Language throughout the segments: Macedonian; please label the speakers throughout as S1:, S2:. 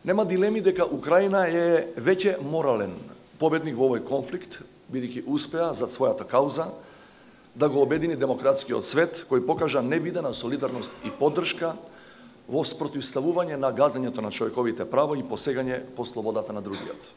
S1: Нема дилеми дека Украина е веќе морален победник во овој конфликт, бидејќи успеа за својата кауза да го обедини демократскиот свет, кој покажа невидена солидарност и поддршка во спротивставување на газењето на човековите права и посегање по слободата на другиот.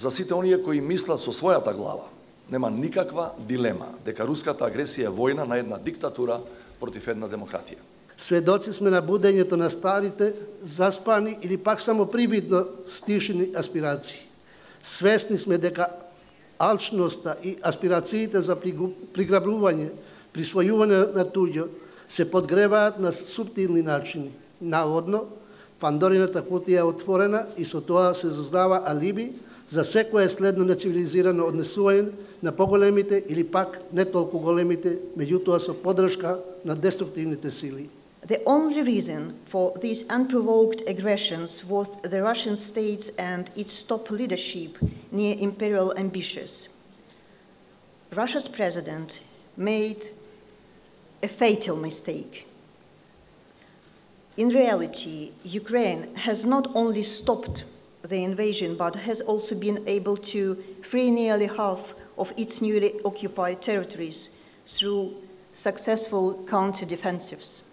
S1: За сите оние кои мислат со својата глава, нема никаква дилема дека руската агресија е војна на една диктатура против една демократија.
S2: Сведоци сме на будењето на старите, заспани или пак само привидно стишени аспирации. Свесни сме дека алчноста и аспирациите за приграбување, присвојување на туѓо се подгреваат на суптилни начини. Наводно, Пандорината кутија е отворена и со тоа се создава алиби за секое следно нецивилизирано однесување на поголемите или пак не толку големите, меѓутоа со поддршка на деструктивните сили.
S3: The only reason for these unprovoked aggressions was the Russian states and its top leadership near imperial ambitions. Russia's president made a fatal mistake. In reality, Ukraine has not only stopped the invasion, but has also been able to free nearly half of its newly occupied territories through successful counter-defensives.